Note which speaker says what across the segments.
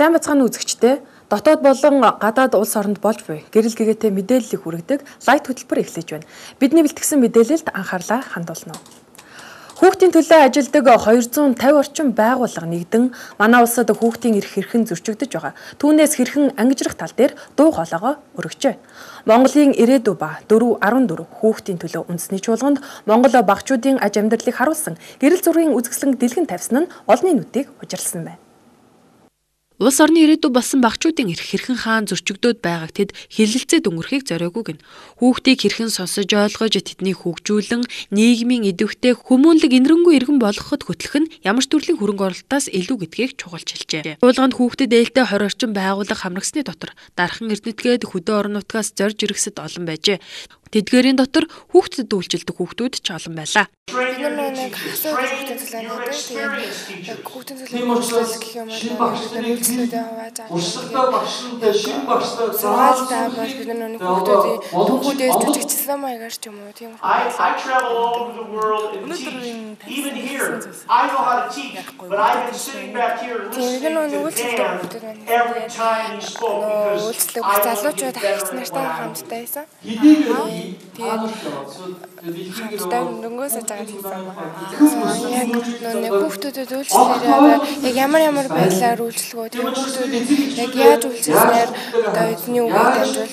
Speaker 1: Сайн бацгааны үзэгчдээ дотоод болон гадаад улс оронд болж буй гэрэл гэгээтэй мэдээллийг хүргэдэг лайт хөтөлбөр эхлэж байна. Бидний бэлтгэсэн мэдээлэлд анхаарлаа хандуулна. Хүүхдийн төлөө ажилладаг 250 орчим байгууллага нэгдэн манай улсад хүүхдийн эрх хэрхэн зөрчигдөж байгаа. Түүнээс хэрхэн ангижрах тал дээр дуу хоолойгоо өргөжээ. Монголын ирээдүй ба 414 хүүхдийн төлөө үндэсний чуулганд Монгол багчуудын аж амьдралыг харуулсан гэрэл зургийн үзэсгэлэн дэлгэн тавьсан нь олонний нүдийг хужирсан байна. Улс орны ирээдүй болсон багчуудын эрх хэрхэн хаан зөрчигдөд байгааг тэд хилэлцээд өнгөрөхийг зориогүйг нь. Хүүхдийг хэрхэн сонсож ойлгож тэднийг хөгжүүлэн нийгмийн идэвхтэй хүмүүнлэг инэрэнгүй иргэн болгоход хөтлөх нь ямар ч төрлийн хөрөнгө оруулалтаас илүү гэдгийг чухалж хэлжээ. Чуулганд хүүхдэд ээлтэй 20 орчим байгууллага хамрагсны дотор дархан эрдэнэтгээд хөдөө орон нутгаас зорж иргэсэд олон байжээ. Тэдгээрийн дотор хүүхдэд үйлчилдэг хүүхдүүд ч олон байлаа.
Speaker 2: Нэг хасаа хүүхдийн төлөөнөөд тэгээд хүүхдийн төлөөнөөд гэх юм бол үйлчлүүдээ хавааж аваад бол бид нэг хүүхдүүдээ жүжигчсэн маягаар ч юм уу тийм.
Speaker 3: Even here, I know how to teach, but I've been sitting back here listening to him every time he spoke because
Speaker 2: залуучууд ахигч нартай хамтдаа байсан. Тэгээд дөнгөөс жагаад хийсэн байна. Яг нэг хүүхдүүдэд үйлчлэлээр яг ямар байдлаар үйлчлэгөө тэр хүүхдүүд яг яаж үйлчлэснээр одоо эзний үгийг дамжуулж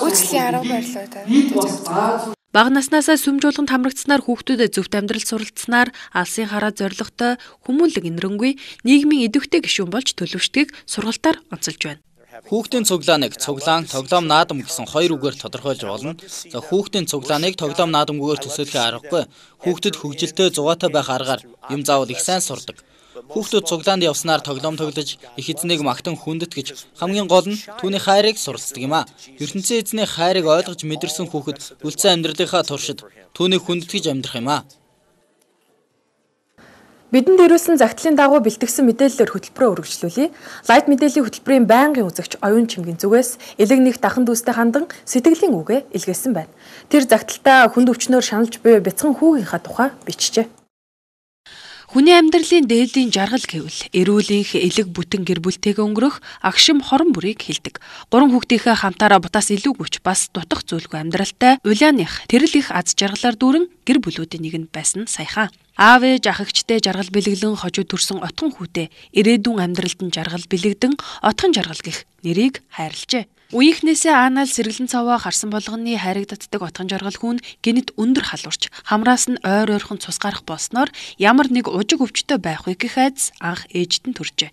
Speaker 2: үйлчлэлийн арга барилаа та.
Speaker 1: Бага наснаасаа сүм жуулганд хамрагдсанаар хүүхдүүдэд зөвхт амьдрал суралцсанаар алсын хараа зоригтой хүмүүнлэг инэрэнгүй нийгмийн идэвхтэй гишүүн болж төлөвшдгийг сургалтаар онцолж байна.
Speaker 4: Хүүхдийн цуглааныг цуглаан, тоглоом наадам гэсэн хоёр үгээр тодорхойлж болно. За хүүхдийн цуглааныг тоглоом наадамгүйгээр төсөөлөх аргагүй. Хүүхдэд хөгжилтэй зугаатай байх аргаар юм заавал их сайн сурдаг. Хүүхдүүд цуглаанд явснаар тоглоом тоглож их эзнийг магтан хүндэт гэж хамгийн гол нь түүний хайрыг суралцдаг юм а. ертөнцийн эзний хайрыг ойлгож мэдэрсэн хүүхэд үлдсэн амьдралынхаа туршид түүнийг хүндэтгэж амьдрах юм а.
Speaker 1: Бидэнд ирүүлсэн загтлын дагуу бэлтгэсэн мэдээллээр хөтөлбөрөө үргэлжлүүлье. Лайт мэдээллийн хөтөлбөрийн байнгын үзэгч Оюун Чимгийн зүгээс элэг нэг дахан дүүстэй хандан сэтгэлийн үгээ илгээсэн байна. Тэр загталтаа хүнд өвчнөөр шаналж буй бяцхан хүүгийнхаа тухай бичжээ. Хүний амьдралын дээдлийн жаргал гэвэл эрүүлэнх элэг бүтэн гэр бүлтэйгээ өнгөрөх агшим хорон бүрийг хэлдэг. 3 хүүхдийнхээ хамтаараа бутаас илүү хүч бас дутах зүйлгүй амьдралтай улааных тэрл их аз жаргалаар дүүрэн гэр бүлүүдийн нэгэнд байсан саяхан. Аав ээж ах эгчтэй жаргал бэлэглэн хожуу төрсөн отхон хүүтэй ирээдүйн амьдралд нь жаргал бэлэгдэн отхон жаргал гэх нэрийг хайрлажээ. Үеийнхнээсээ aanаал сэргэлэн цаваа харсан болгоны хайрагддаг отхон жаргал хүн гинэд өндөр халуурч хамраас нь ойр ойрхон цус гарах болсноор ямар нэг ужиг өвчтөй байх вэ гэх айдас анх ээжд нь төржээ.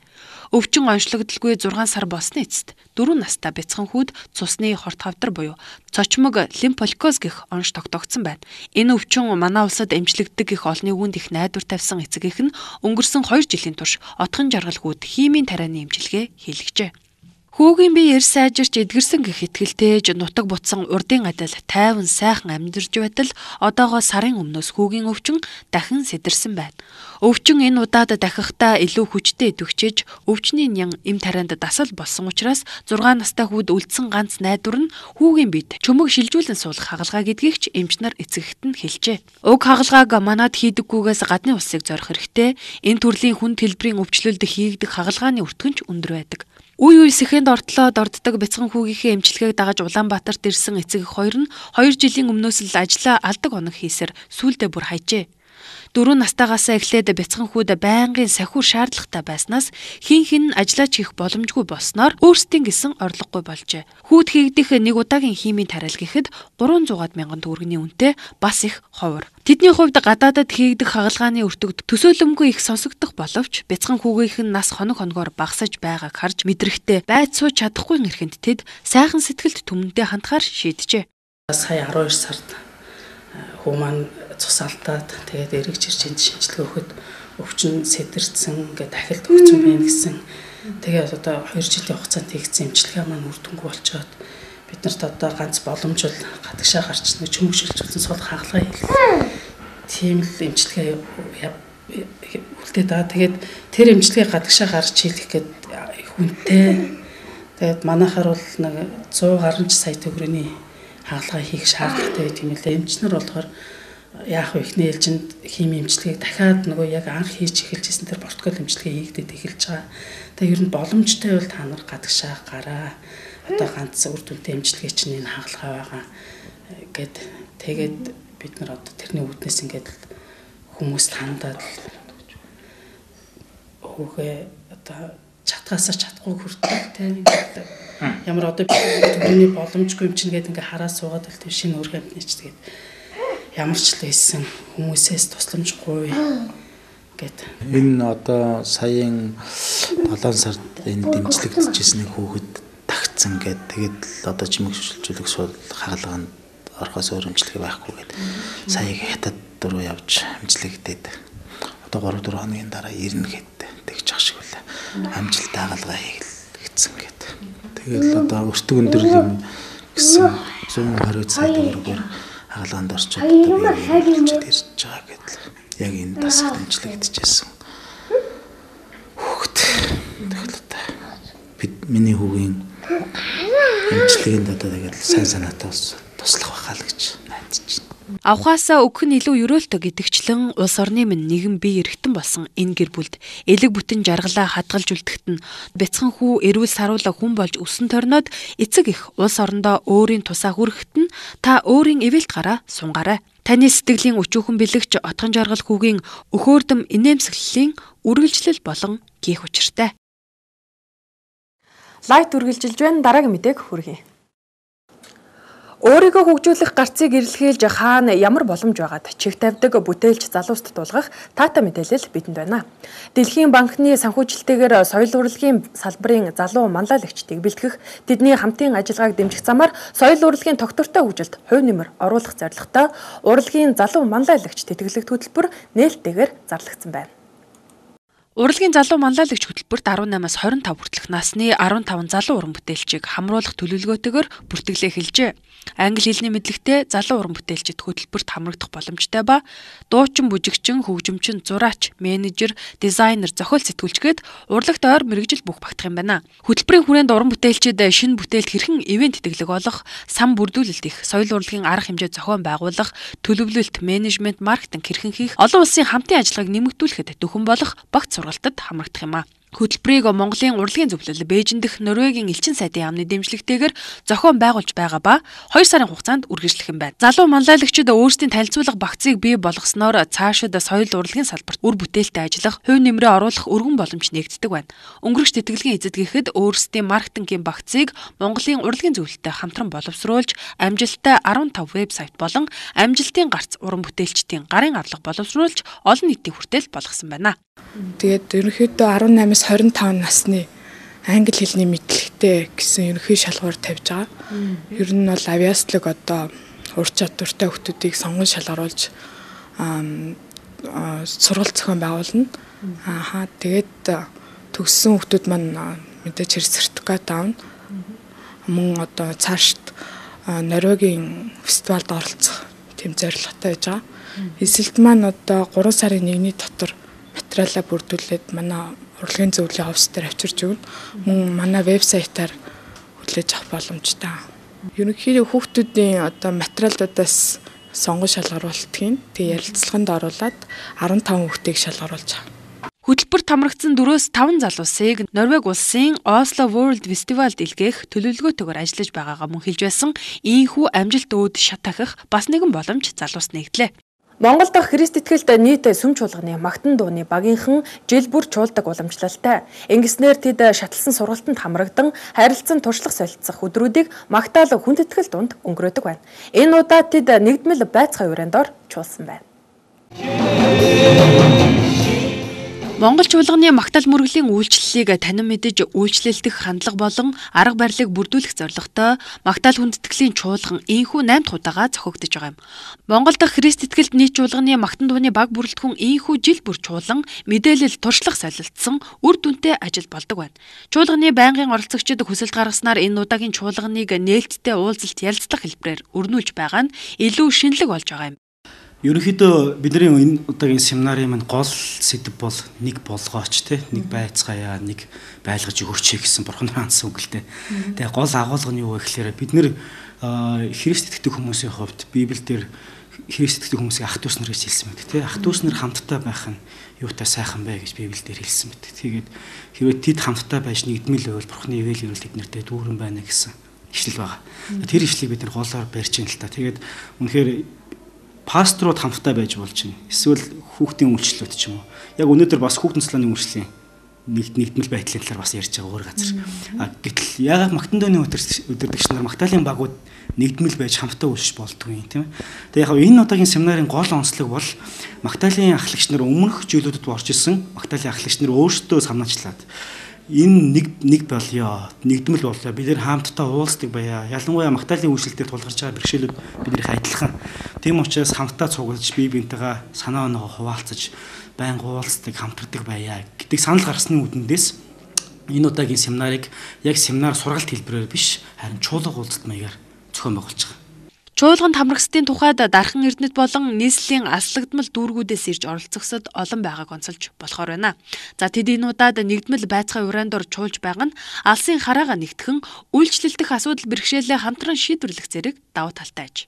Speaker 1: Өвчин онцлогдолгүй 6 сар болсны эцэст 4 настай бяцхан хүүд цусны хорт хавдар буюу цочмог лимфоликоз гэх онш тогтоогдсон байна. Энэ өвчин манай улсад эмчлэгддэг их олны хүнд их найдвар тавьсан эцэгийнх нь өнгөрсөн 2 жилийн турш отхон жаргал хүүд химийн тарианы эмчилгээ хийлгэжээ. Хүүгийн бие эрс сайжирч эдгэрсэн гэх итгэлтэйж нутаг бутсан урдын адил тайван сайхан амьдарч байтал одоогоо сарын өмнөөс хүүгийн өвчин дахин сэтэрсэн байна. Өвчин энэ удаад дахихдаа илүү хүчтэй идэвхжиж өвчний нян эм тарианд дасал болсон учраас 6 настай хүүд үлдсэн ганц найдвар нь хүүгийн биед чөмөг шилжүүлэн суулгах хагалгаа гэдгийг ч эмч нар эцэгт нь хэлжээ. Уг хагалгааг манад хийдэггүйгээс гадны улсыг зорих хэрэгтэй. Энэ төрлийн хүнд хэлбэрийн өвчлөлд хийгдэх хагалгааны өртгөнч өндөр байдаг. Үе үеийнхэнд ортлоод орддог бяцхан хүүгийнхээ эмчилгээг дагаж Улаанбаатарт ирсэн эцэг эх хоёр нь 2 жилийн өмнөөс л ажлаа алдаг оног хийсээр сүүлдээ бүр хайжээ. 4 настайгаасаа эхлээд бяцхан хүүд байнгын сахиур шаардлагатай байснаас хин ажиллаж хийх боломжгүй болсноор өөрсдийн гэсэн орлогогүй болжээ. Хүүд хийгдэх нэг удаагийн химийн тариал гэхэд 300 мянган төгрөгийн үнэтэй бас их ховор. Тэдний хувьд гадаадад хийгдэх хагалгааны өртөгд төсөөлөмгүй их сонсогдох боловч бяцхан хүүгийнх нь нас хоногоор багасаж байгааг харж мэдрэхтэй байц сууж чадахгүй нэрхэнд тэд сайхан сэтгэлд түмэндээ хандахаар шийджээ.
Speaker 5: Сая 12 сард хүү маань цус алдаад тэгээд эргэж ирж энд шинжилгээ өгөхөд өвчин сэтэрсэн ингээд дахил төгссөн байна гэсэн. Тэгээд одоо 2 жилийн хугацаанд хийгдсэн эмчилгээ маань үр дүнгүй болчоод бид нарт одоо ганц боломж бол гадагшаа гарч нэг чөмөг шилжүүлсэн суулгах хагалгаа хийх. Тийм л эмчилгээ үлдээд байгаа. Тэгээд тэр эмчилгээ гадагшаа гарч хийх гээд хүнтэй. Тэгээд манайхаар бол нэг 100 гаруй сая төгрөгийн хагалгаа хийх шаардлагатай байт юм лээ. Эмчнэр болохоор яах вэ ихний ээлжинд хими эмчилгээг дахиад нөгөө яг анх хийж эхэлжсэн тэр протокол эмчилгээ хийгдээд эхэлж байгаа. Тэгээ ер нь боломжтой бол та нар гадагшаа гараа. Одоо ганц үр дүнтэй эмчилгээ чинь энэ хагалгаа байгаа гэд тэгээд бид нар одоо тэрний үүднээс ингээд хүмүүст хандаад хүүгээ одоо чатгаасаа чадахгүй хүртэл тийм ямар одоо бидний боломжгүй юм чинь гээд ингээ хараа суугаад л тийм шинэ өр амьтны ч тэгээд ямар ч л байсан хүмүүсээс тусламжгүй гэд.
Speaker 6: Энэ одоо саяын 7 сард энэ дэмжлэгдэжсэн хүүхэд тагцсан гэд тэгээд одоо чимэг шүлжүүлэх сууд хагалгаанд орохоос өөр эмчилгээ байхгүй гэд саяг хятад руу явж эмчилгээдээд одоо 3-4 хоногийн дараа ирнэ гэд тэгж ах шиг үлээ. Амжилттай хагалгаа хийгдсэн гэд. Тэгэл одоо өртөг өндөрлөм юм гэсэн 120 сая төгрөгөөр хагалгаанд орчод одоо би ирж байгаа гэдэл яг энэ тасагт эмчилэгдэжсэн. Хүүхэд тэгэл одоо бид миний хүүгийн эмчилгээнд одоо тэгэл сайн санаатай туслах байхаа л гэж найдаж байна.
Speaker 1: Авхаасаа өгөх нь илүү өрөөлтөө гэдэгчлэн улс орны минь нэгэн бие эргэтэн болсон энэ гэр бүлд элэг бүтэн жаргалаа хадгалж үлдэхт нь бяцхан хүү эрүүл саруула хүн болж өсөн торноод эцэг их улс орондоо өөрийн тусаа хүрэхэд нь та өөрийн эвэлт гараа сунгаарай. Таны сэтгэлийн өчүүхэн бэлэгч отгон жаргал хүүгийн өхөөрдөм инээмсэглэлийн үргэлжлэл болон гих учиртай. Лайт үргэлжилж байна. Дараагийн мэдээг хүргэе. Өөрийгөө хөгжүүлэх гарцыг эрэлхийлж хаана ямар боломж байгаад чих тавьдаг бүтээлч залууст тулгах таата мэдээлэл бидэнд байна. Дэлхийн банкны санхүүжилтэйгээр соёл урлагийн салбарын залуу манлайлагчдыг бэлтгэх, тэдний хамтын ажиллагааг дэмжих замаар соёл урлагийн тогтвортой хөгжилд хувь нэмэр оруулах зорилготой урлагийн залуу манлайлагч тэтгэлэг хөтөлбөр нээлттэйгээр зарлагдсан байна. Урлагийн залуу манлайлагч хөтөлбөрт 18-аас 25 хүртэлх насны 15 залуу уран бүтээлчийг хамруулах төлөвлөгөөтэйгээр бүртгэлээ эхэлжээ. Англи хэлний мэдлэгтэй залуу уран бүтээлчид хөтөлбөрт хамрагдах боломжтой ба дуучин, бүжигчин, хөгжимчин, зураач, менежер, дизайнер, зохиол сэтгүүлчгээд урлагт ойр мэргэжил бүх багтах юм байна. Хөтөлбөрийн хүрээнд уран бүтээлчид шинэ бүтээлд хэрхэн ивент тэтгэлэг олох, сан бүрдүүлэлт их, соёл урлагийн арга хэмжээ зохион байгуулах, төлөвлөлт, менежмент, маркетинг хэрхэн хийх, олон улсын хамтын ажиллагааг нэмэгдүүлэхэд дөхөн болох багц сургалтад хамрагдах юм а. Хөтөлбөрийг Монголын урлагийн зөвлөл Бээжин дэх Норвегийн элчин сайдын яамны дэмжлэгтэйгээр зохион байгуулж байгаа ба 2 сарын хугацаанд үргэлжлэх юм байна. Залуу манлайлагчид өөрсдийн танилцуулга багцыг бий болгосноор цаашид соёл урлагийн салбарт үр бүтээлтэй ажиллах, хувь нэмрээ оруулах өргөн боломж нэгддэг байна. Өнгөрөгч тэтгэлгийн эзэдгийхэд өөрсдийн маркетингийн багцыг Монголын урлагийн зөвлөлтөй хамтран боловсруулж, амжилттай 15 вебсайт болон амжилтын гарц уран бүтээлчдийн гарын арлага боловсруулж олон нийтийн хүртэл болгосон байна.
Speaker 2: Тэгээд ерөнхийдөө 18-аас 25 насны англи хэлний мэдлэгтэй гэсэн ерөнхий шалгуур тавьж байгаа. Ер нь бол авиаслог одоо ур чадвартай хүмүүсийг сонгон шалгаруулж сургалт зохион байгуулна. Тэгээд төгссөн хүмүүс маань мэдээж хэрэг сертификат авна. Мөн одоо цаашд Норвегийн фестивальд оролцох тэм зорилготой байж байгаа. Эсэлт маань одоо 3 сарын 1-ний дотор материалаа бүрдүүлээд манай урлагийн зөвлөлийн офс дээр авчирч өгнө. Мөн манай вебсайтаар хүлээж авах боломжтой. Ерөнхийдөө хүүхдүүдийн одоо материалуудаас сонгон шалгаруултгийг тэгээ ярилцлаганд оруулаад 15 хүүхдийг шалгаруулж байгаа. Хөтөлбөрт хамрагдсан 4-5 залуусыг Норвеги улсын Oslo World Festivalд илгээх төлөвлөгөөтэйгээр ажиллаж байгаагаа мөн хэлж байсан. Ийхүү амжилт өөд шат ахих бас нэгэн боломж залуус нэгдлээ. Монгол дахь Христ итгэлд нийт сүм чуулганы магтан дууны багийнхан жил бүр чуулдаг уламжлалтай. Ингэснээр тэд шатлсан сургалтанд хамрагдан харилцан туршлах солилцох өдрүүдийг магтаал хүндэтгэл дунд өнгөрөөдөг байна. Энэ удаа тэд нэгдмэл байцгай урандор чуулсан байна. Монгол чуулганы магтаал мөргөлийн үйлчлэлийг танин мэдэж үйлчлэлдэх хандлага болон арга барилыг бүрдүүлэх зорилготой магтаал хүндэтгэлийн чуулган ийхүү 8 дахь удаага зохиогдож байгаа юм. Монгол дахь Христ итгэлд нийт чуулганы магтан дууны баг бүрэлдэхүүн ийхүү жил бүр чуулган мэдээлэл туршлах солилцсон үр дүнтэй ажил болдог байна. Чуулганы байнгын оролцогчид хүсэлт гаргаснаар энэ удаагийн чуулганыг нээлттэй уулзалт ярилцлах хэлбэрээр өрнүүлж байгаа нь илүү шинэлэг болж байгаа юм.
Speaker 7: Ерөнхийдөө бидний энэ удаагийн семинарын маань гол сэдэв бол нэг болгооч те нэг байцгаая нэг байлгаж өгөөч гэсэн бурхан хаансан үг л те. Тэгээ гол агуулга нь юу вэ гэхээр бид нэр Христ итгэдэг хүмүүсийн хувьд Библиэлд Христ итгэдэг хүмүүсийг ах дүүс нар гэж хэлсэн мэт тий. Ах дүүс нар хамтдаа байх нь юутай сайхан бэ гэж Библиэлд хэлсэн мэт. Тэгээд хэрвээ тэд хамтдаа байж нэгдмэл байвал Бурхны ивэл ирүүл тэднэртэй дүүрэн байна гэсэн ишлэл байгаа. Тэр ишлийг бид нар голоор барьж ин л та. Тэгээд үнэхээр пасторууд хамтдаа байж болж байна. Эсвэл хүүхдийн үйлчлэлүүд ч юм уу. Яг өнөөдөр бас хүүхдийн цалааны үйлчлэлийн нэгдмэл байдлын талаар бас ярьж байгаа өөр газар. Гэтэл яагаад Магтан дууны өдөрдөгч нар Магдалины багууд нэгдмэл байж хамтдаа үйлч болдгүй юм тийм ээ. Тэгээ яг энэ удаагийн семинарын гол онцлог бол Магдалины ахлагч нар өмнөх жилүүдэд орж исэн Магдалины ахлагч нар өөрсдөө санаачлаад энэ нэг болёо, нэгдмэл болёо. Бид нэр хамтдаа уулздаг байя. Ялангуяа Магдалины үйлчлэлээр тулгарч байгаа бэрхшээлүүд биднийх адилхан. Тийм учраас хамтдаа цуглаж бие биентэйгээ санаа оноогоо хуваалцаж байнга уулздаг, хамтардаг байя гэдэг санал гарсны үдэндээс энэ удаагийн семинарыг яг семинар сургалт хэлбэрээр биш харин чуулга уулзалт маягаар зохион байгуулж байгаа.
Speaker 1: Чуулганд хамрагсдын тухайд дархан эрдэнэт болон нийслэлийн аслагдмал дүүргүүдээс ирж оролцогсод олон байгааг онцолж болохоор байна. За тэд энэ удаад нэгдмэл байцгай урандор чуулж байгаа нь алсын хараага нэгтгэн үйлчлэлдэх асуудал бэрхшээлээ хамтран шийдвэрлэх зэрэг давуу талтай аж.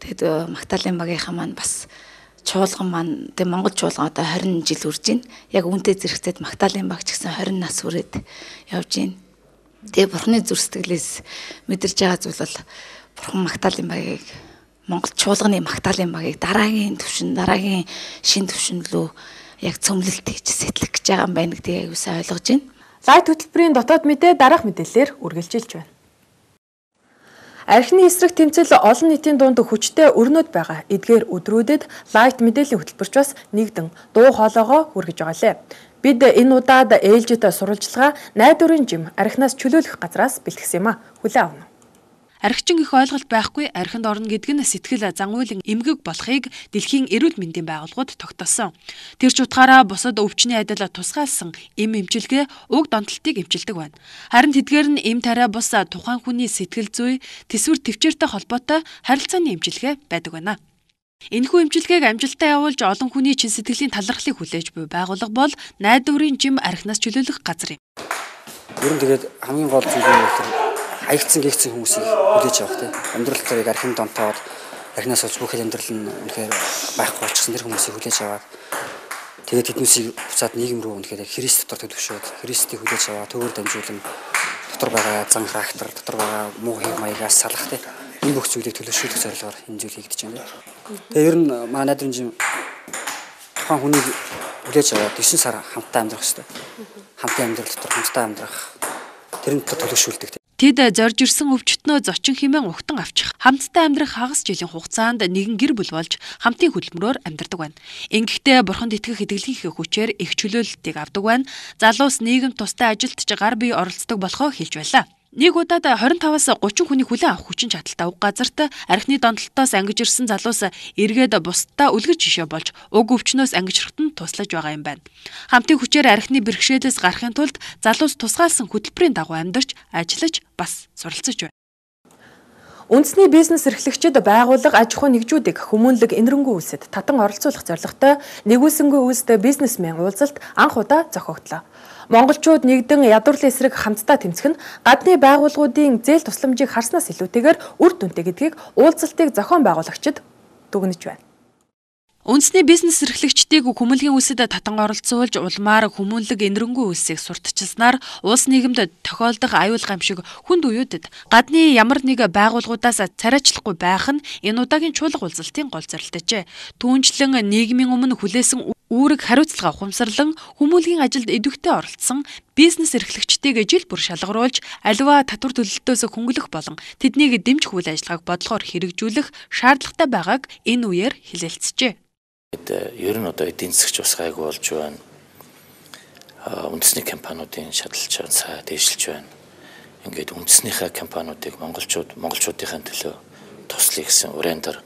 Speaker 8: Тэгэд Магдалины багийнхаа маань бас чуулган маань тэг Монгол чуулган одоо 20 жил үрж байна. Яг үүнтэй зэрэгцээд Магдалины баг ч гэсэн 20 нас хүрээд явж байна. Тэгээ Бурхны зүр сэтгэлээс мэдэрч байгаа зүйл бол Бурхан Магдалины багийг Монгол чуулганы Магдалины багийг дараагийн шин түвшин рүү яг цөмлөлт хийж сэтлэх гэж байгаа юм байна гэдгийг аюу сайн ойлгож байна.
Speaker 1: Лайт хөтөлбөрийн дотоод мэдээ дараах мэдээлэлээр үргэлжилж байна. Архины эсрэг тэмцэл олон нийтийн дунд хүчтэй өрнөд байгаа. Эдгээр өдрүүдэд лайт мэдээллийн хөтөлбөрч бас нэгдэн дуу хоолойгоо хүргэж байгаа лээ. Бид энэ удаад ээлжид сурвалжлага найдварын жим архинаас чөлөөлөх газраас бэлтгэсэн юм а. Хүлээн авна. Архичин их ойлголт байхгүй архинд орно гэдэг нь сэтгэл зангуулын эмгэг болохыг дэлхийн эрүүл мэндийн байгууллагууд тогтоосон. Тэр ч утгаараа бусад өвчний адил тусгаалсан эм эмчилгээ уг донтолтыг эмчилдэг байна. Харин тэдгээр нь эм тариа бус тухайн хүний сэтгэл зүй, тэсвэр төвчээртэй холбоотой харилцааны эмчилгээ байдаг байна. Энэхүү эмчилгээг амжилттай явуулж олон хүний чин сэтгэлийн талархлыг хүлээж буй байгууллага бол найдварын жим архинаас чөлөөлөх газар юм.
Speaker 9: Ер нь тэгээд хамгийн гол зүйл нь хаягдсан гихцэн хүмүүсийг хүлээж авах тийм амьдрал төрийг архин донтоод архинаас олж бүх амьдрал нь үнэхээр байхгүй болчихсон тэр хүмүүсийг хүлээж аваад тэгээд тэднүүсийг буцаад нийгэм рүү үнэхээр Христ дотор төлөвшөөд Христийг хүлээж аваад төвөр дамжуулан дотор байгаа зан характер дотор байгаа муу хэв маягаас салах тийм энэ бүх зүйлийг төлөвшүүлэх зорилгоор энэ зүйл хийгдэж байна. Тэгээд ер нь манай найдрын жим тухайн хүнийг хүлээж аваад 9 сар хамтдаа амьдрах хэрэгтэй. Хамтын амьдрал дотор хамтдаа амьдрах тэрнээ төлөвшүүлдэг.
Speaker 1: Тэд зорж ирсэн өвчтнөө зочин хэмээн угтан авчих, хамтдаа амьдрах хагас жилийн хугацаанд нэгэн гэр бүл болж хамтын хөдөлмөрөөр амьдардаг байна. Ингэхдээ бурханд итгэх итгэлийнхээ хүчээр их чөлөөлөлтийг авдаг байна. Залуус нийгэм тустай ажилд ч гар бие оролцдог болохоо хэлж байлаа. Нэг удаад 25-аас 30 хүний хүлээн авах хүчин чадалтай уг газарт архины донтолтоос ангиж ирсэн залуус эргээд бусдаа үлгэр жишээ болж уг өвчнөөс ангижрахт нь туслаж байгаа юм байна. Хамтын хүчээр архины бэрхшээлээс гарахын тулд залуус тусгаалсан хөтөлбөрийн дагуу амьдарч, ажиллаж, бас суралцж байна. Үндэсний бизнес эрхлэгчид байгууллага аж ахуй нэгжүүдийг хүмүүнлэг энэрэнгүй үйлсэд татан оролцуулах зорилготой нэгүүлсэнгүй үйлстэй бизнесмен уулзалт анх удаа зохиогдлоо. Монголчууд нэгдэн ядуурлын эсрэг хамтдаа тэмцэх нь гадны байгууллагуудын зээл тусламжийг харснаас илүүтэйгээр үр дүнтэй гэдгийг уулзалтыг зохион байгуулагчид дүгнэж байна. Үндэсний бизнес эрхлэгчдийг хүмүүнлэгийн үйлсэд татан оролцуулж улмаар хүмүүнлэг энэрэнгүй үйлсийг сурталчилснаар улс нийгэмд тохиолдох аюул гамшиг хүнд үеүүдэд гадны ямар нэг байгууллагуудаас царайчлахгүй байх нь энэ удаагийн чуулга уулзалтын гол зорилтойжээ. Түүнчлэн нийгмийн өмнө хүлээсэн үүрэг хариуцлага ухамсарлан хүмүүнлэгийн ажилд идэвхтэй оролцсон бизнес эрхлэгчдийг жил бүр шалгаруулж аливаа татвар төлөлтөөс хөнгөлөх болон тэднийг дэмжих үйл ажиллагааг бодлохоор хэрэгжүүлэх шаардлагатай байгааг энэ үеэр хэлэлцжээ.
Speaker 10: Ер нь одоо эдийн засгч бас гайгүй болж байна. Үндэсний компаниудын шадалж байгаа дээшилж байна. Ингээд үндэснийхээ компаниудыг монголчуудынхаа төлөө туслая гэсэн урандаар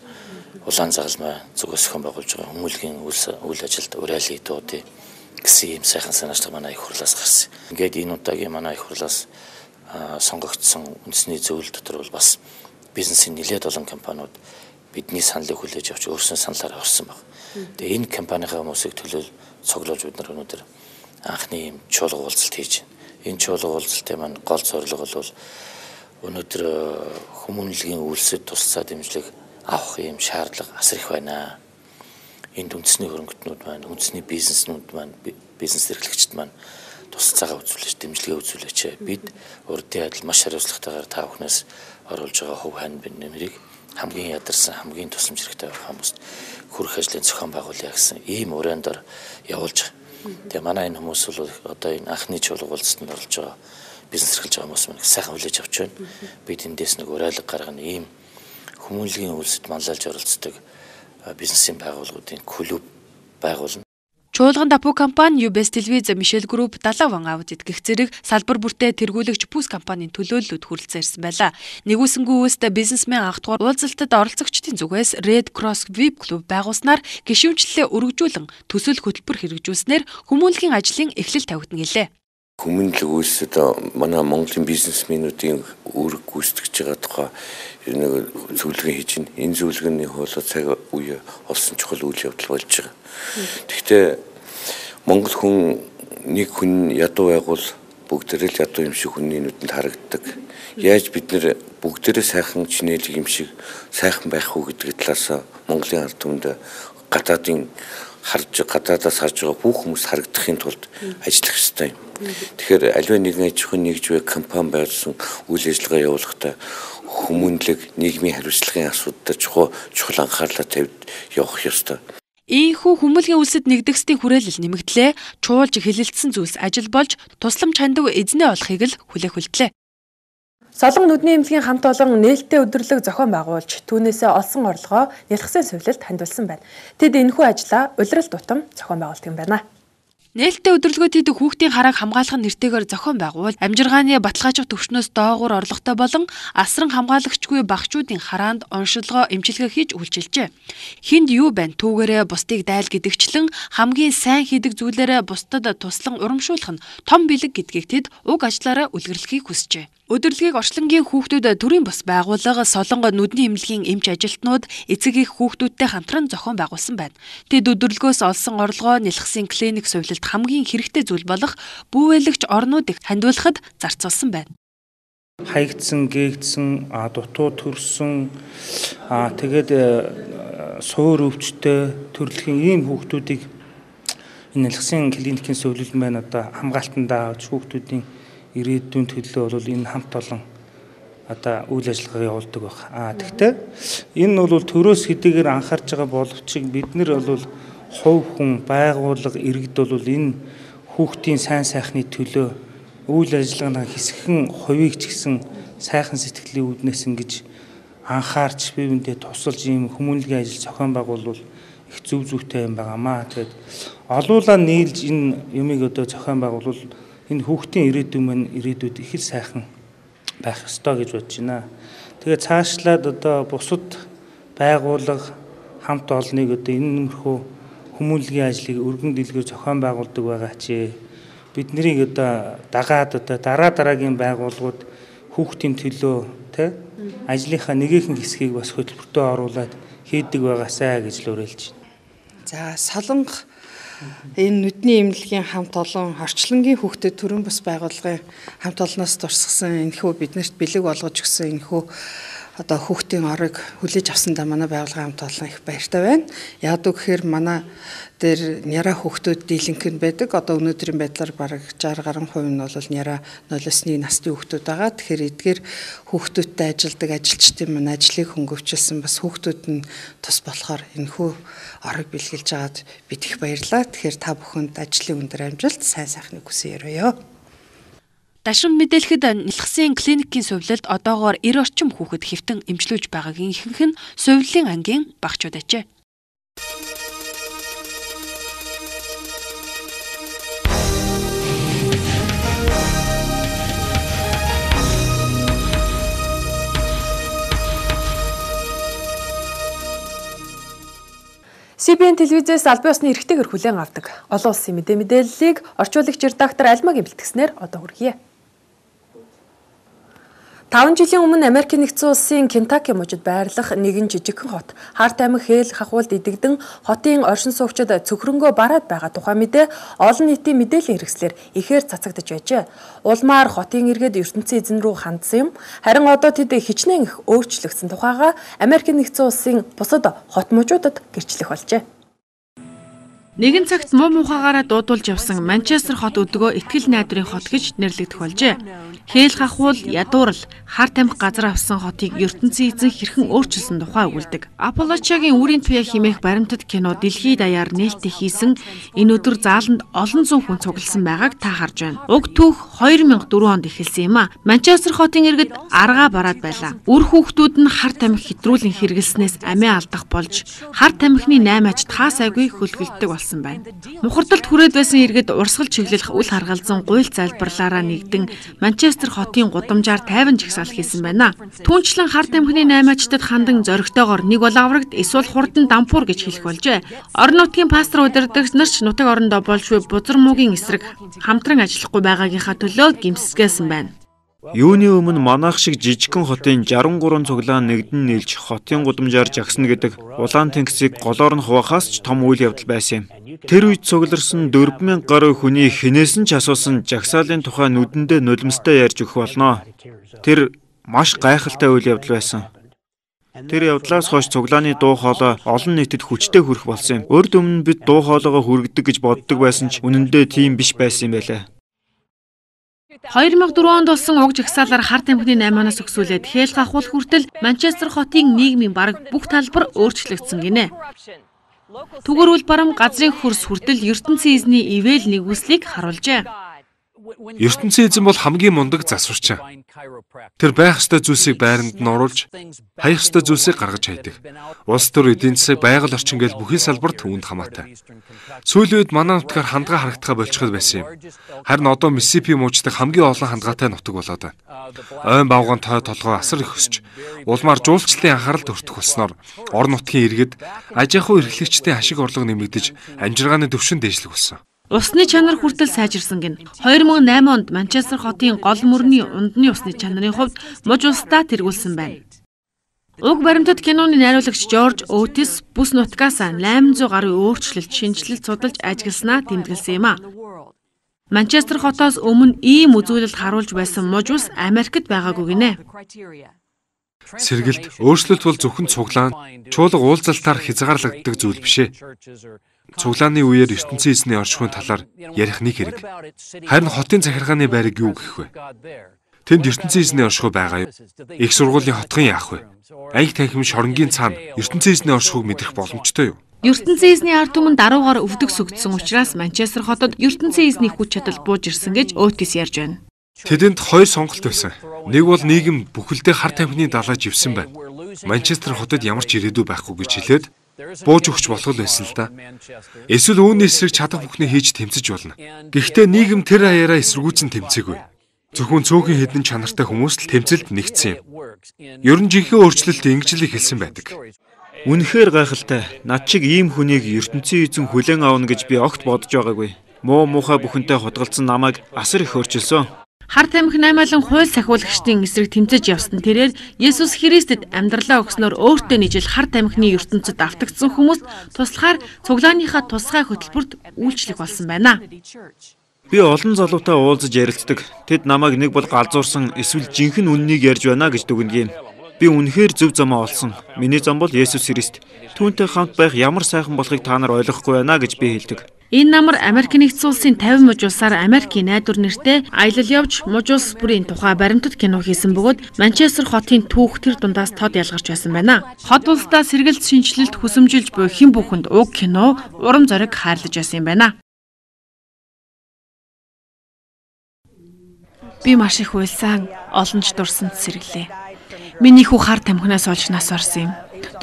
Speaker 10: улаан загалмай зүгээс хэн байгуулж байгаа хүмүүнлэгийн үйл ажилд уриалын дуудыг гэсэн юм сайхан санаачлаг манай их хурлаас гарсан. Ингээд энэ удаагийн манай их хурлаас сонгогдсон үндэсний зөвлөл дотор бол бас бизнесийн нэлээд олон компаниуд бидний саналыг хүлээж авч өөрсдөө саналаараа орсон баг. Тэгээ энэ компанийнхаа хүмүүсийг төлөөл цоглуулж бид нар өнөөдөр анхны юм чуулга уулзалт хийж байна. Энэ чуулга уулзалтын маань гол зорилго бол өнөөдөр хүмүүнлэгийн үйлсэд тусцаа дэмжлэг авах юм шаардлага асар их байна. Энд үндэсний хөрөнгөтнүүд маань, үндэсний бизнеснүүд маань, бизнес эрхлэгчид маань тусалцаагаа үзүүлж, дэмжлэгээ үзүүлээч. Бид урдын адил маш хариуцлагатайгаар та бүхнээс оруулж байгаа хувь хань нэмрийг хамгийн ядарсан, хамгийн тусламж хэрэгтэй байх хүмүүст хүрэх ажлын зохион байгуулъя гэсэн ийм урайндор явуулж байгаа. Тэгээ манай энэ хүмүүс бол одоо энэ анхны чуулга уулзалтанд орж байгаа бизнес эрхэлж байгаа хүмүүс маань сайхан хүлээж авч байна. Бид эндээс нэг уриалга гаргана, ийм хүмүүнлэгийн үйлсэд манлайлж оролцдог бизнесийн байгууллагуудын клуб байгуулна.
Speaker 1: Чуулган Дапу компани, UBS телевиз, Мишель групп, Далаван аудит гэх зэрэг салбар бүртээ тэргүүлэгч Пүүс компанийн төлөөллөд хүрэлцэн ирсэн байлаа. Нэгүсэнгүү үст бизнесмен анх дугаар уулзалтад оролцогчдын зүгээс Red Cross VIP клуб байгуулснаар гишүүнчлэлээ өргөжүүлэн төсөл хөтөлбөр хэрэгжүүлснээр хүмүүнлэгийн ажлын эхлэл тавигдана гэлээ.
Speaker 11: Хүмүүнлэг үйлсэд манай Монголын бизнесменүүдийн үүрэг гүйцэтгэж байгаа тухай нэг зөвлөгөө хийж байна. Энэ зөвлөгөөний хоолой цаг үе олсон чухал үйл явдал болж байгаа. Гэхдээ Монгол хүн нэг хүн ядуу байгуул бүгдээрээ л ядуу юм шиг хүний нүдэнд харагддаг. Яаж бид нэр бүгдээрээ сайхан чинэлэг юм шиг сайхан байх уу гэдэг талаас Монголын ард түмэнд гадаадаас харж байгаа бүх хүмүүс харагдахын тулд ажиллах ёстой юм. Тэгэхээр аливаа нэгэн аж ахуйн нэгж буй компани байгуулсан үйл ажиллагаа явуулахдаа хүмүүнлэг нийгмийн хариуцлагын асуудалд чухал анхаарлаа тавьж явах ёстой.
Speaker 1: Ийхүү хүмүүнлэгийн үлсэд нэгдэгсдийн хүрээлэл нэмэгдлээ, чуулж хэлэлцсэн зүйлс ажил болж тусламж хандаг эзнээ олохыг л хүлээх. Солон нүдний эмнэлгийн хамт олон нээлттэй өдөрлөг зохион байгуулж, түүнээсээ олсон орлогоо нялхсан сувилалд хандуулсан байна. Тэд энэхүү ажлаа улирал тутам зохион байгуулдаг юм байна. Нээлттэй өдөрлөгөө хийдэг хүүхдийн харааг хамгаалах нэртэйгээр зохион байгуул, амжиргааны баталгаажих төвшнөөс доогуур орлоготой болон асран хамгаалагчгүй багчуудын хараанд оншилгоо эмчилгээ хийж үйлчилжээ. Хинд юу байна? Түүгээрээ бусдыг дайл гэдэгчлэн хамгийн сайн хийдэг зүйлээрээ бусдад туслан урамшуулах нь том бэлэг гэдгийг тэд уг ажлаараа үлгэрлэхийг хүсжээ. Өдөрлөгийг орчлонгийн хүүхдүүд төрийн бас байгууллага Солонго нүдний эмнэлгийн эмч ажилтнууд эцэг их хүүхдүүдтэй хамтран зохион байгуулсан байна. Тэд өдөрлөгөөс олсон орлогоо нэлхсийн клиник сувилалд хамгийн хэрэгтэй зүйл болох бүүвэлэгч орнуудыг хандуулахад зарцуулсан байна.
Speaker 12: Хаягдсан, гээгдсэн, дутуу төрсөн, тэгээд суур өвчтэй төрөлхийн ийм хүүхдүүдийг энэ нэлхсийн клиникийн сувилал маань одоо хамгаалтандаа авч хүүхдүүдийн ирээдүйн төлөө бол энэ хамт олон одоо үйл ажиллагаа явуулдаг баг. Тэгтээ энэ бол төрөөс хэдийгээр анхаарч байгаа боловч бид нар бол хувь хүн, байгууллага, иргэд бол энэ хүүхдийн сайн сайхны төлөө үйл ажиллагааны хэсэгхэн хувийг ч гэсэн сайхан сэтгэлийн үүднээс ингэж анхаарч бие биендээ тусалж ийм хүмүүнлэгийн ажил зохион байгуулвал их зөв зүйтэй юм байгаамаа. Тэгээд олуулаа нийлж энэ юмыг одоо зохион байгуулвал энэ хүүхдийн ирээдүйн маань ирээдүйд их л сайхан байх ёстой гэж бодож байна. Тэгээд цаашлаад одоо бусад байгууллага хамт олныг одоо энэ нэмэрхүү хүмүүнлэгийн ажлыг өргөн дэлгэр зохион байгуулдаг байгаа ч биднийг одоо дагаад одоо дараагийн байгууллагууд хүүхдийн төлөө ажлынхаа нэгэн хэсгийг бас хөтөлбөртөө оруулаад хийдэг байгаасаа гэж л уриалж байна.
Speaker 13: За Солонго энэ нүдний эмнэлгийн хамт олон орчлонгийн хүүхдэд төрийн бас байгууллагын хамт олноос дурсгасан энэхүү биднэрт бэлэг болгож өгсөн энэхүү одоо хүүхдийн орыг хүлээж авсандаа манай байгууллагын хамт олон их баяртай байна. Яг үгээр манай дээр няра хүүхдүүд дийлэнх нь байдаг. Одоо өнөөдрийн байдлаар бараг 60 гаруй хувь нь бол няра 0-1 насны хүүхдүүд байгаа. Тэгэхээр эдгээр хүүхдүүдтэй ажилдаг ажилчдын маань ажлыг хөнгөвчлсөн бас хүүхдүүд нь тус болохоор энэхүү орыг бэлгэлж аваад бид их баярлалаа. Тэгэхээр та бүхэнд ажлын өндөр амжилт, сайн сайхныг хүсэн ёроо.
Speaker 1: Дашин мэдээлэхэд нэлхсийн клиникийн сувилалд одоогоор 90 орчим хүүхэд хэвтэн эмчлүүлж байгаагийн ихэнх нь сувиллын ангийн багчууд ажээ. CBN телевизээс албан ёсны эрхтэйгээр хүлээн авдаг олон улсын мэдээллийг орчуулагч редактор Альмагийн бэлтгэснээр одоо хүргье. 5 жилийн өмнө Америкийн нэгдсэн улсын Кентаки мужид байрлах нэгэн жижигхэн хот Харт аймаг Хээл хахуулд идэгдэн хотын оршин суугчид цөхрөнгөө бараад байгаа тухай мэдээ олон нийтийн мэдээллийн хэрэгслэр ихээр цацагдж байжээ. Улмаар хотын иргэд ертөнцийн эзэн рүү хандсан юм. Харин одоо тэд хичнээн их өөрчлөгдсөн тухайга Америкийн нэгдсэн улсын бусад хот мужуудад гэрчлэх болжээ.
Speaker 14: Нэгэн цагт муу мухагаараа дуудулж явсан Манчестер хот өдгөө итгэл найдварын хот гэж нэрлэгдэх болжээ. Хээл хахуул, ядуурл, Харт аймаг газар авсан хотыг ертөнцийн эзэн хэрхэн өөрчилсөн тухай өгүүлдэг. Аполлочагийн үрийн туяа химээх баримтат кино дэлхийд даяар нээлттэй хийсэн энэ өдөр зааланд олон зуун хүн цугласан байгааг та харж байна. Уг түүх 2004 онд эхэлсэн юм а. Манчестер хотын иргэд аргаа бараад байлаа. Үр хүүхдүүд нь Харт аймаг хэтрүүлэн хэрэглэснээс амиа алдах болж Харт аймагны 8 ажид хаасайгүй хөлгөлдөг болсон байна. Мухардалд хүрээд байсан иргэд урсгал чиглэлх үл харгалзан гуйл залбирлаараа нэгдэн Манчестер хотын гудамжаар тайван жагсаал хийсэн байна. Түүнчлэн Харт аймагны 8 ажтад хандан зоригтойгоор нэг бол аврагт эсвэл хурдан дампуур гэж хэлэх болжээ. Орон нутгийн пастор удирдагч нар ч нутаг орондоо болшгүй бузар муугийн эсрэг хамтран ажиллахгүй байгаагийнхаа төлөө гимсгэсэн байна.
Speaker 12: Юуны өмнө манайх шиг жижигхэн хотын 63 цуглаан нэгдэн нийлж хотын гудамжаар жагсна гэдэг улаан тэнгисийг голоор нь хуваахаас ч том үйл явдал байсан юм. Тэр үед цугларсан 4000 гаруй хүний хинээс нь ч асуусан жагсаалын тухай нүдэндээ нулимстай ярьж өгөх болно. Тэр маш гайхалтай үйл явдал байсан. Тэр явдлаас хойш цуглааны дуу хоолой олон нийтэд хүчтэй хүрэх болсон юм. Урд өмнө бид дуу хоолойгоо хүргэдэг гэж боддог байсан ч үнэндээ тийм биш байсан юм байлаа.
Speaker 14: 2004 онд болсон уг жагсаалаар Харт аймагны 8-аас өксүүлээд Хээл хахуул хүртэл Манчестер хотын нийгмийн бараг бүх талбар өөрчлөгдсөн гинэ. Түгэрүүл барам газрын хөрс хүртэл ертөнцийн эзний ивэл нэгүслийг харуулжээ.
Speaker 15: ертөнцийн эзэн бол хамгийн мундаг засварч. Тэр байх ёстой зүйлсийг байранд нь оруулж, хаях ёстой зүйлсийг гаргаж хайдаг. Улс төр эдийн засаг, байгаль орчин гээл бүхий салбарт үүнд хамаатай. Сүүлийн үед манай нутгаар хандгаа харагдахаа болчиход байсан юм. Харин одоо Миссисипи мужид хамгийн олон хандгаатай нутаг болоод байна. Ойн бавган той толгой асар их өсч, улмаар жуулчлалын анхаарал төртөх болсноор орон нутгийн иргэд аж ахуй эрхлэгчдийн ашиг орлого нэмэгдэж, амжиргааны түвшин дээшлэх болсон.
Speaker 14: Усны чанар хүртэл сайжирсан гин. 2008 онд Манчестер хотын гол мөрний ундны усны чанарын хувьд муж улсдаа тэргүүлсэн байна. Уг баримтат киноны найруулагч Жорж Оутис бүс нутгаас 800 гаруй өөрчлөлт, шинжилэлт судалж ажигласнаа тэмдэглэсэн юм а. Манчестер хотоос өмнө ийм үзүүлэлт харуулж байсан муж улс Америкт байгаагүй гинэ.
Speaker 15: Сэргэлт, өөрчлөлт бол зөвхөн цуглаан, чуулга уулзалтаар хязгаарлагддаг зүйл бишээ. Цуглааны үеэр ертөнцийн эзний оршихуйн талаар ярих нэг хэрэг. Харин хотын захиргааны байрыг юу гэх вэ? Тэнд ертөнцийн эзний оршихуй байгаа юу? Их сургуулийн хотхон яах вэ? Анги танхим шоронгийн цаана ертөнцийн эзний оршихуйг мэдрэх боломжтой юу?
Speaker 14: ертөнцийн эзний ард түмэн даруугаар өвдөг сүгдсэн учраас Манчестер хотод ертөнцийн эзний хүч чадал бууж ирсэн гэж Оутис ярьж байна.
Speaker 15: Тэдэнд хоёр сонголт байсан. Нэг бол нийгэм бүхэлдээ Харт аймагны далай живсэн байна. Манчестер хотод ямар ч ирээдүй байхгүй гэж хэлээд бууж өгч болох л байсан л да. Эсвэл үүний эсрэг чадах бүхнээ хийж тэмцэж болно. Гэхдээ нийгэм тэр хаяараа эсэргүүцэн тэмцээгүй. Зөвхөн цөөхөн хэдэн чанартай хүмүүс л тэмцэлд нэгдсэн юм. Ер нь жинхэнэ өөрчлөлт ингэж л эхэлсэн байдаг.
Speaker 12: Үнэхээр гайхалтай. Над шиг ийм хүнийг ертөнцийн эзэн хүлээн авна гэж би огт бодож байгаагүй. Муу муухай бүхэнтэй хотголцсон намайг асар их өөрчилсөн.
Speaker 14: Харт аймаг наймаалан хууль сахиулагчдын эсрэг тэмцэж явсан тэрээр Есүс Христэд амьдралаа өгснөөр өөртөө нийжил Харт аймагны ертөнцид автагдсан хүмүүст туслахаар цуглааныхаа тусгай хөтөлбөрт үйлчлэх болсон байна.
Speaker 12: Би олон залуутай уулзаж ярилцдаг. Тэд намайг нэг бол галзуурсан эсвэл жинхэнэ үннийг ярьж байна гэж дүгнэв. Би үнэхээр зөв замаа олсон. Миний зам бол Есүс Христ. Түүнтэй хамт байх ямар сайхан болохыг та нар ойлгохгүй байна гэж би хэлдэг.
Speaker 14: Энэ намар Америк нэгдсэн улсын 50 муж улсаар Америкийн найдвар нэртэй аялал явж муж улс бүрийн тухай баримтат кино хийсэн бөгөөд Манчестер хотын түүх тэр дундаас тод ялгарч байсан байна. Хот улсдаа сэргэлт шинжилэлт хүсэмжилж буй хэн бүхэнд уг кино урам зориг хайрлаж байсан юм байна. Би маш их уйлсан, олонч дурсанд сэргэлээ. Миний хүү Харт аймагнаас олж нас орсон юм.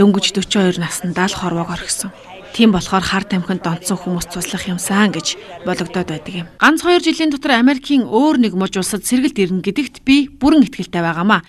Speaker 14: Дөнгөж 42 наснда л хорвоог орхисон. Тийм болохоор Харт аймагт донцсон хүмүүс туслах юмсан гэж бологдоод байдаг юм. Ганц 2 жилийн дотор Америкийн өөр нэг муж улсад сэргэлт ирнэ гэдэгт би бүрэн итгэлтэй байгаамаа.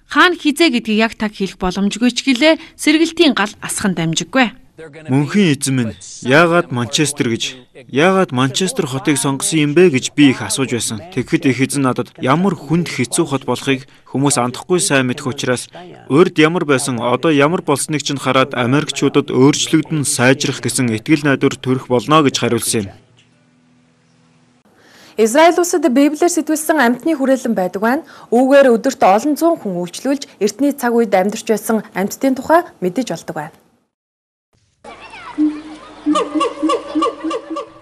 Speaker 14: Хаана хизээ гэдгийг яг таг хэлэх боломжгүй ч гэлээ сэргэлтийн гал асхан дамжиггүй.
Speaker 16: Мөнхийн эзэн минь, яагаад Манчестер гэж, яагаад Манчестер хотыг сонгосон юм бэ гэж би их асууж байсан. Тэгэхэд их эзэн надад ямар хүнд хэцүү хот болохыг хүмүүс андахгүй сайн мэдэх учраас урд ямар байсан одоо ямар болсныг чинь хараад Америкчуудад өөрчлөгдөн сайжрах гэсэн итгэл найдвар төрөх болно гэж хариулсан юм.
Speaker 1: Израиль улсад Библиэр сэтгүүлсэн амьтны хүрээлэн байдаг байна. Үүгээр өдөрт олон зуун хүн үйлчлүүлж эртний цаг үед амьдарч байсан амьтдын тухай мэдэж болдог байна.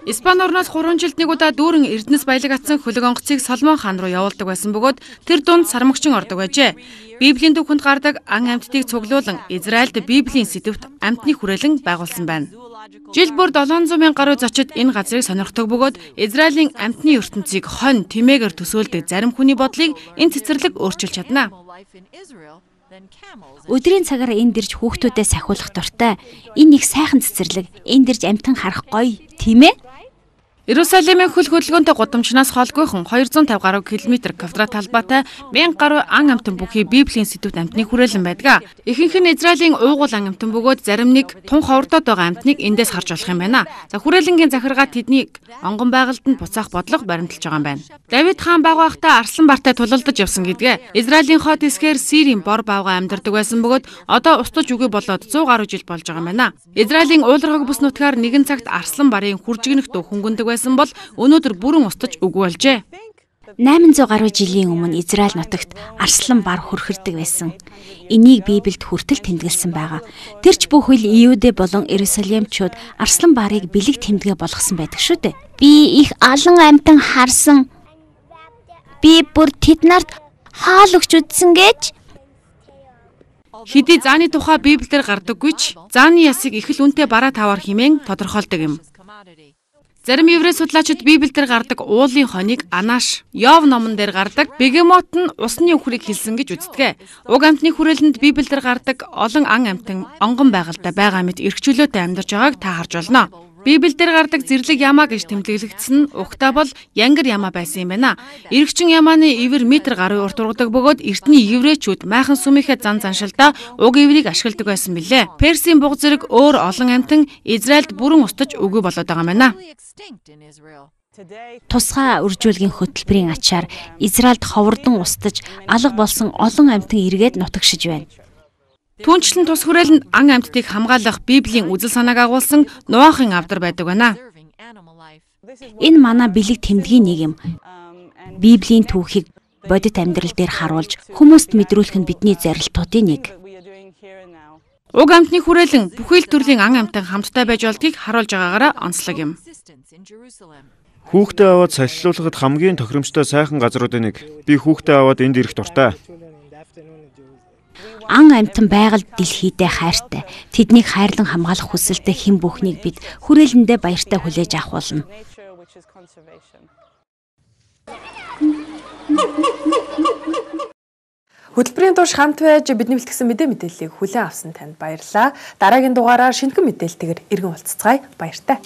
Speaker 14: Испани орноос 3 жилд нэг удаа дүүрэн Эрдэнэс баялаг атсан хөлөг онгоцыг Соломон хаан руу явуулдаг байсан бөгөөд тэр дунд сармагчин ордог байжээ. Библийн төвхөнд гардаг ан амьтдыг цуглуулan Израильд Библийн сэдвт амьтны хүрээлэн байгуулсан байна. Жил бүр 700 мянган гаруй зочид энэ газрыг сонирхдог бөгөөд Израилийн амьтны ертөнцийг хонь тэмээгээр төсөөлдөг зарим хүний бодлыг энэ цэцэрлэг өөрчилж чадна.
Speaker 17: Өдрийн цагаар энд ирж хүүхдүүдэд сахиулах дуртай. Энэ их сайхан цэцэрлэг. Энд ирж амьтан харах гоё, тийм ээ?
Speaker 14: Иерусалимын хөл хөдөлгөөнтэй гудамжнаас холгойхон 250 гаруй километр квадрат талбайтай 1000 гаруй ан амьтан бүхий Библийн сэдвт амьтны хүрээлэн байдаг. Ихэнх нь Израилийн уугуул ан амьтан бөгөөд зарим нэг тун ховрдоод байгаа амьтныг эндээс харж болох юм байна. За хүрээлэнгийн захиргаа тэднийг онгон байгальд нь буцаах бодлого баримталж байгаа юм байна. Давид хаан баг байхдаа арслан бартай тулалдаж явсан гэдгээ. Израилийн хот эсгээр Сирийн бор баавга амьдардаг байсан бөгөөд одоо устж үгүй болоод 100 гаруй жил болж байгаа юм байна. Израилийн уулархаг бүс нутгаар нэгэн цагт арслан барын хүржигнэх дуу хөнгөндөг байсан бол өнөөдөр бүрэн устж үгүй болжээ.
Speaker 17: 800 гаруй жилийн өмнө Израиль нутагт арслан бар хөрхөрдөг байсан. Энийг Библиэд хүртэл тэмдэглэсэн байгаа. Тэрч бүхэл Иудэ болон Иерусалимчууд арслан барыг бэлэг тэмдэгэ болгосон байдаг шүү дээ. Би их алан амьтан харсан. Би бүр тэднарт хаал өгч үзсэн гэж.
Speaker 14: Хэдий зааны тухай Библиэр гардаггүй ч зааны ясыг их л үнэтэй бараа таваар хэмээн тодорхойлдог юм. Зарим еврей судлаачид Библиэлд гардаг уулын хоныг Анаш, Йов номон дээр гардаг Бегемот нь усны үхрийг хэлсэн гэж үздэг. Уг амьтны хүрээлэнд Библиэлд гардаг олон ан амьтан онгон байгальтай байгаа мэт эрхчлөөтэй амьдарч байгааг та харж болно. Библиэлд гардаг зэрлэг ямаа гэж тэмдэглэгдсэн нь угтаа бол янгар ямаа байсан юм байна. Иргэгчин ямааны ивэр метр гаруй урт ургадаг бөгөөд эртний еврейчүүд майхан сүмийнхээ зан заншилдаа уг иврийг ашигладаг байсан билээ. Персийн буг зэрэг өөр олон амьтан Израильд бүрэн устж үгүй болоод байгаа юм байна.
Speaker 17: Тусгай үржүүлгийн хөтөлбөрийн ачаар Израильд ховордон устж алга болсон олон амьтан эргээд нутагшиж байна.
Speaker 14: Түүнчлэн тус хүрээлэнд ан амьтдыг хамгаалах Библийн үзэл санааг агуулсан Ноахын авдар байдаг байна.
Speaker 17: Энэ манай бэлэг тэмдгийн нэг юм. Библийн түүхийг бодит амьдрал дээр харуулж хүмүүст мэдрүүлэх нь бидний зорилтуудын нэг.
Speaker 14: Уг амьтны хүрээлэн бүхэл төрлийн ан амьтан хамтдаа байж болдгийг харуулж байгаагаараа онцлог юм.
Speaker 16: Хүүхдээ аваад салхилуулахад хамгийн тохиромжтой сайхан газруудын нэг. Би хүүхдээ аваад энд ирэх дуртай.
Speaker 17: Ан амьтан байгальд дэлхийдээ хайртай. Тэднийг хайрлан хамгаалах хүсэлтэй хэн бүхнийг бид хүрээлэндээ баяртай хүлээж авах болно.
Speaker 1: Хөтөлбөрийн турш хамт байж бидний бэлтгэсэн мэдээллийг хүлээн авсан танд баярлалаа. Дараагийн дугаараар шинэхэн мэдээлэлтэйгээр иргэн уулзцгаая. Баяртай.